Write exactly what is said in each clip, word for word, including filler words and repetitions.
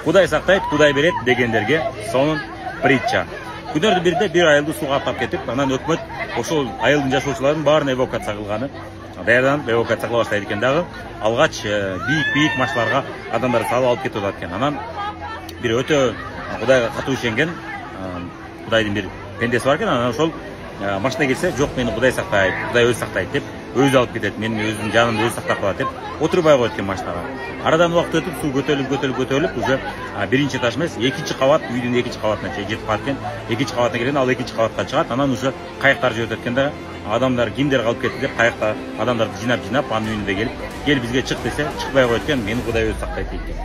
Кудай сактайт, Кудай берет дегендерге сонун притча. Күнөрдүн биринде бир айылды сууга аттап кетип, анан өкмөт ошол айылдын жашоочуларын баарын эвакуация кылганы, даярданып эвакуация кыла баштайт экен дагы. Алгач бийик-бийик машиналарга адамдарды салып алып кетип атат экен. Анан бир өтө Кудайга катуу ишенген Кудайдын бир пендеси бар экен. Анан ошол машина келсе, жок мени Кудай сактайт, Кудай өзү сактайт деп өзү алып кетет. Менин өзүмдүн жанымды өзү сактап калат деп отурбай коет экен машинага. Арадан убакыт өтүп, суу көтөрүлүп, көтөрүлүп, көтөрүлүп, уже биринчи этаж эмес, экинчи кабат, үйдүн экинчи кабатына жетип калат экен. Экинчи кабатына келген, ал экинчи кабатка чыгат. Анан уже кайыктар жүрөт экен да, адамдар кимдер калып кетти деп кайыкта адамдарды жыйнап-жыйнап анын үйүнө келип, кел бизге чык десе, чыкпай коет экен. Мени Кудай өзү сактайт дейт экен.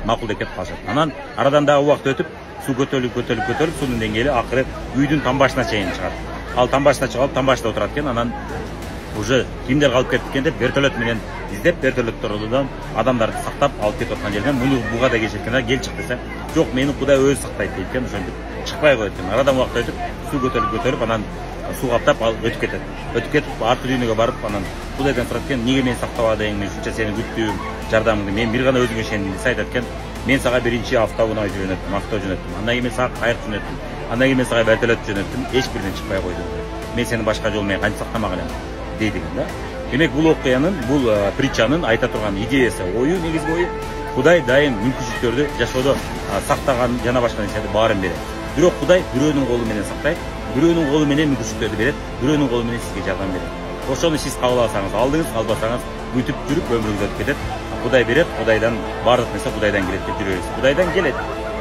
Макул деп кетип калышат. Анан арадан дагы убакыт өтүп, суу көтөрүлүп, көтөрүлүп, көтөрүлүп, суунун деңгээли акыры үйдүн тамбашына чейин чыгат. Ал тамбашына чыгып алып, тамбашта отурат экен. Анан уже кимдер калып кетти экен деп вертолет менен издеп, вертолеттордон адамдарды сактап алып кетип аткан жерден муну буга да келишет экен. Кел чык десе, жок мени Кудай өзү сактайт дейт экен. Ошентип чыкпай коет экен. Арадан убакыт өтүп, суу көтөрүлүп, көтөрүп, анан суу каптап ал өтүп кетет. Өтүп кетип, арты дүйнөгө барып, анан Кудайдан сурат экен, эмнеге мени сактабадың, мен ушунча сени күттүм, жардамыңды, мен бир гана өзүңө ишендим десе, айтат экен, мен сага биринчи автоунаа жөнөттүм, авто жөнөттүм. Андан кийин мен сага кайык жөнөттүм. Андан кийин мен сага вертолет жөнөттүм. Эч биринен чыкпай койдум. Мен сени башка жол менен кантип сактамак элем дейт экен да. Демек бул окуянын, бул притчанын айта турган идеясы, ою, негизги ою Кудай дайым мүмкүнчүлүктөрдү жашоодо сактаган жана башка нерселерди баарын берет. Бирок Кудай бирөөнүн колу менен сактайт, бирөөнүн колу менен мүмкүнчүлүктөрдү берет, бирөөнүн колу менен сизге жардам берет. Ошону сиз кабыл алсаңыз алдыңыз, албасаңыз бүтүп жүрүп өмүрүңүз өтүп кетет. Кудай берет, Кудайдан баардык нерсе Кудайдан келет деп жүрөбүз. Кудайдан келет,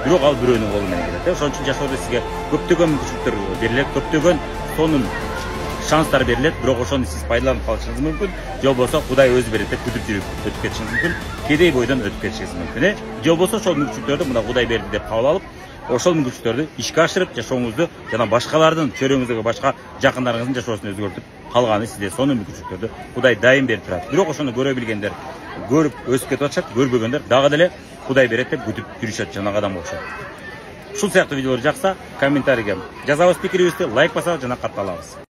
бирок ал бирөөнүн колу менен келет. Ошон үчүн жашоодо сизге көптөгөн мүмкүнчүлүктөр берилет, көптөгөн сонун шанстар берилет, бирок ошону сиз пайдаланып калышыңыз мүмкүн, же болбосо Кудай өзү берет деп күтүп жүрүп өтүп кетишиңиз мүмкүн, кедей бойдон өтүп кетишиңиз мүмкүн, э? Же болбосо ошол мүмкүнчүлүктөрдү мына Кудай берди деп кабыл алып, ошол мүмкүнчүлүктөрдү ишке ашырып, жашооңузду жана башкалардын, чөйрөңүздөгү башка жакындарыңыздын жашоосун өзгөртүп калганы сизде сонун мүмкүнчүлүктөрдү Кудай дайым берип турат. Бирок ошону көрө билгендер көрүп өсүп кетип атышат, көрбөгөндөр дагы деле Кудай берет деп күтүп жүрүшөт жанагы адамга окшоп. Ушул сыяктуу видеолор жакса, комментарийге жазабыз пикирибизди, лайк басабыз жана катталабыз.